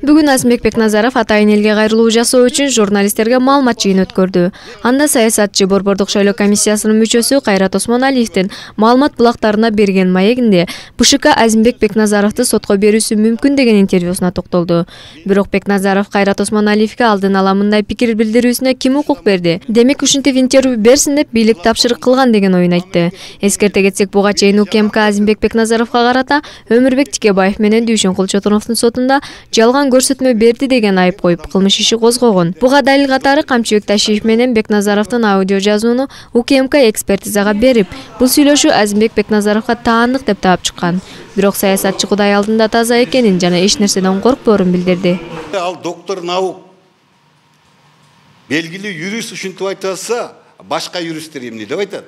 Бүгүн Азимбек Бекназаров атайын элге кайрылуу жасоо үчүн журналисттерге маалымат жыйын өткөрдү. Анда саясатчы Борбордук шайлоо комиссиясынын мүчөсү Кайрат Осмоналиевдин маалымат булактарына берген маегинде БШК Азимбек Бекназаровду сотко берүүсү мүмкүн деген интервьюсуна токтолду. Бирок Бекназаров Кайрат Осмоналиевге алдын ала мындай пикир билдирүүсүнө ким укук берди? Демек ушинтип интервью берсин деп бийлик тапшырык кылган деген оюн айтты. Эскерте кетсек, буга чейин УКМК Азимбек Бекназаровго карата Өмүрбек Тикебаев менен Дүйшөн Кулчотуновдун сотунда жалган көрсөтмө берди деген айып коюп, кылмыш иши козгогон. Буга далил катары Камчыбек Ташиев менен Бекназаровдун аудио жазууну УКМК экспертизага берип, бул сүйлөшүү Азимбек Бекназаровго таандык деп таап чыккан. Бирок саясатчы Кудай алдында таза экенин жана эч нерседен коркпоорун билдирди. Ал доктор наук белгилүү юрист ушинтип айтып атса, башка юристтер эмне деп айтат?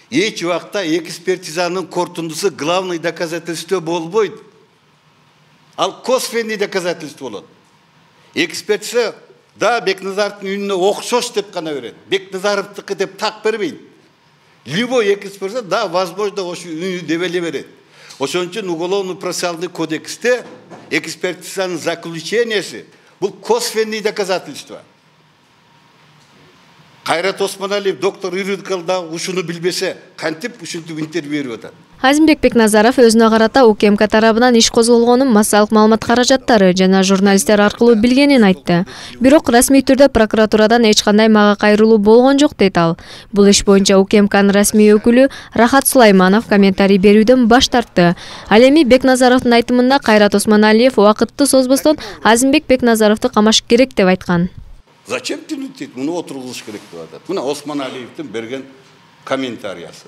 Эч убакта экспертизанын корутундусу главный доказательство болбойт. Ал косвенный доказательство болот. Экспертиза да Бекназаровдун үнүнө окшош деп гана берет. Бекназаровдуку деп так бербейт. Любой экспертиза да возможно ошо үнү деп эле берет. Ошон үчүн уголовно-процессуальный кодексте экспертизанын заключениясы бул косвенный доказательство. Кайрат Осмоналиев доктор юридикалда ушуну билбесе, кантип ушинтип интервью берип атат? Азимбек Бекназаров өзүнө карата УКМК тарабынан иш козголгонун массалык маалымат каражаттары жана журналисттер аркылуу билгенин айтты. Бирок расмий түрдө прокуратурадан эч кандай мага кайрылуу болгон жок дейт ал. Бул иш боюнча УКМКнын расмий өкүлү Рахат Сулайманов комментарий берүүдөн баш тартты. Ал эми Бекназаровдун айтымында Кайрат Осмоналиев убакытты созбостон Азимбек Бекназаровду камаш керек деп айткан. Зачем тянуть? Муну отургузуш керек деп атат. Мына Осмоналиевдин берген комментариясы.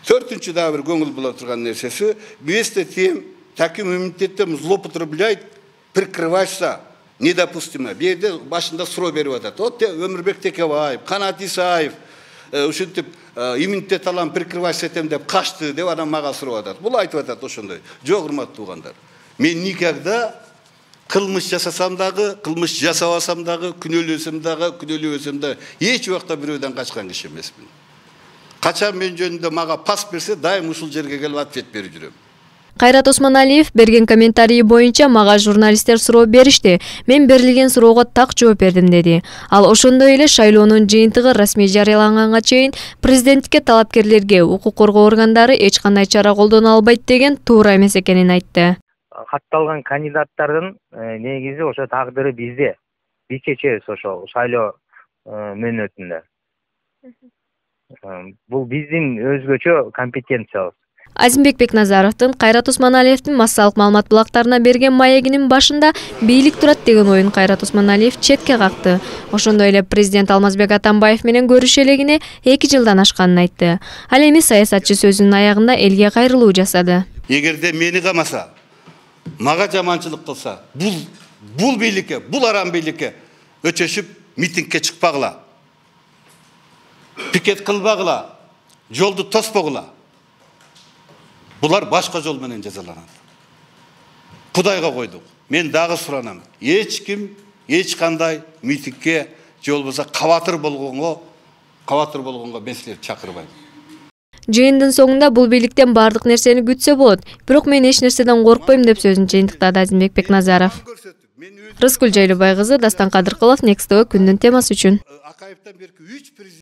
Төртүнчү да бир көңүл була турган нерсеси, вместе тем таким иммунитетом злоупотребляет, прикрывается недопустимо. Бу жерде башында суроо берип атат. Вот Өмүрбек Текебаев, Канат Исаев ушинтип иммунитет алам, прикрываться этем деп качты деп анан мага суроо атат. Бул айтып атат ошондой. Жок, урматтуу туугандар. Мен никогда кылмыш жасасам дагы, кылмыш жасабасам дагы, күнөөлөсөм дагы, эч убакта бирөөдөн качкан киши эмесмин. Качан мен жөнүндө мага пас берсе, дайым ушул жерге келип ответ берип жүрөм. Кайрат Осмоналиев берген комментарии боюнча мага журналисттер суроо беришти. Мен берилген суроого так жооп бердим деди. Ал ошондой эле шайлоонун жыйынтыгы расмий жарыяланганга чейин президенттикке талапкерлерге укук коргоо органдары эч кандай чара колдоно албайт деген туура эмес экенин айтты. Катталган кандидаттардын негизи ошо тагдыры бизде. Биз чечебиз ошо шайлоо мөөнөтүндө. Бул биздин өзгөчө компетенциябыз. Азимбек Бекназаровдун Кайрат Осмоналиевдин массалык маалымат булактарына берген маегинин башында бийлик турат деген оюн Кайрат Осмоналиев четке какты. Ошондой эле президент Алмазбек Атамбаев менен көрүшө элегине 2 жылдан ашканын айтты. Ал эми саясатчы сөзүнүн аягында элге кайрылуу жасады. Эгерде мени камаса, мага жаманчылык кылса, бул бийликке, бул арам бийликке өчөшүп митингге чыкпагыла. Пикет кылбагыла, жолду тоспогула. Булар башка жол менен жазаланат. Кудайга койдук. Мен дагы суранам. Эч ким, эч кандай митингге же болбосо кабатыр болгонго меселер чакырбайт. Жыйындын соңунда бул бийликтен бардык нерсени күтсө болот. Бирок мен эч нерседен коркпойм деп сөзүн жыйынтыктады Азимбек Бекназаров. Рыскүл Жайлыбай кызы, Дастан Кадыркулов, Next TV күндүн темасы үчүн.